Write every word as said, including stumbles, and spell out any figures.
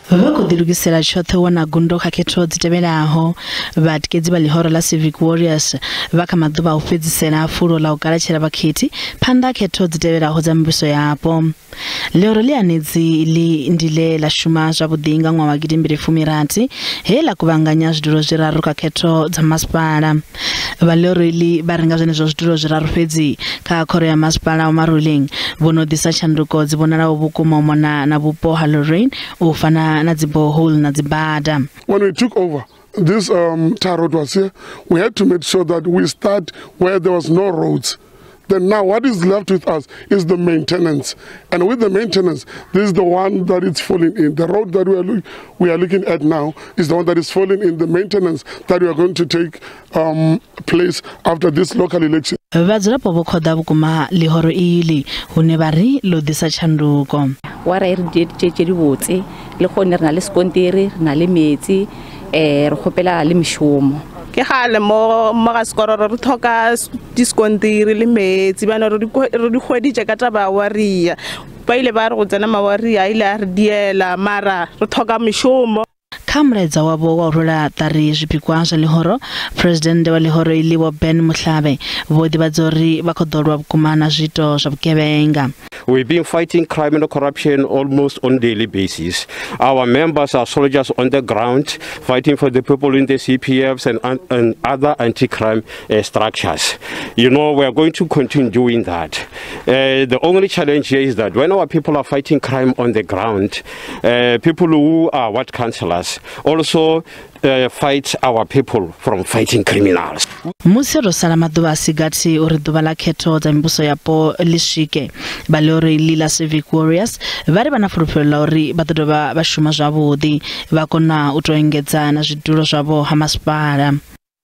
Vha khou ḓilugisela tshoṱhe u wana gundo kha khetho dzi tevhelaho. Vhatikedzi vha ḽihoro ḽa Civic Warriors vha kha maḓuvha a u fhedzisela a fulo ḽa u galatshela vhakhethi phanḓa ha khetho dzi tevhelaho dza mivhuso yapo. Ḽihoro ḽi hanedzi ḽi ndi ḽe ḽa shuma zwavhuḓi nga ṅwaha wa gidimbili fumi rathi he ḽa kuvhanganya zwidulo zwiraru kha khetho dza masipala. Vha ḽihoro iḽi vha renga zwenezwo zwidulo zwiraru fhedzi kha khoro ya masipala wa Maruleng vho no ḓisa tshanduko dzi vhonalaho vhukuma u mona na vhupo ha Lorraine u fana na dzi borehole na dzi bada. When we took over, this um, tar road was here. We had to make sure that we start where there was no roads. Then now what is left with us is the maintenance. And with the maintenance, this is the one that is falling in. The road that we are, look, we are looking at now is the one that is falling in the maintenance that we are going to take um, place after this local election. Vhadzulapo vho khoḓa vhukuma ḽihoro iḽi hune vha ri ḽo ḓisa tshanduko. Wa ra e re dieditše tše dibotse le kgone re na le sekontiri, re na le metsi, um re kgopela le mešomo. Ke gale mo mo ga sekororo re tlhoka diskontiri le metsi bana re di hweditše ka taba ya waria. Ba ile ba re go tsena mawaria a ile a re diela mara re tlhoka mešomo. Kha mulaedza wavho wa u rwela ṱari zwipikwa zwa ḽihoro, President wa ḽihoro iḽi Vho Ben Muhlave vho ḓivhadza uri vha khou ḓo lwa vhukuma na zwiito zwa vhugevhenga. We've been fighting crime and corruption almost on daily basis. Our members are soldiers on the ground fighting for the people in the C P Fs and, and other anti-crime uh, structures. You know, we are going to continue doing that. Uh, the only challenge here is that when our people are fighting crime on the ground, uh, people who are ward councillors also uh, fight our people from fighting criminals. Musi ro sala maḓuvha a si gathi uri ḓuvha ḽa khetho dza mivhuso yapo ḽi swike, vha ḽihoro iḽi ḽa Civic Warriors vha ri vha na fulufhelo ḽa uri vha ḓo dovha vha shuma zwavhuḓi vha kona u tou engedza na zwidulo zwavho ha masipala.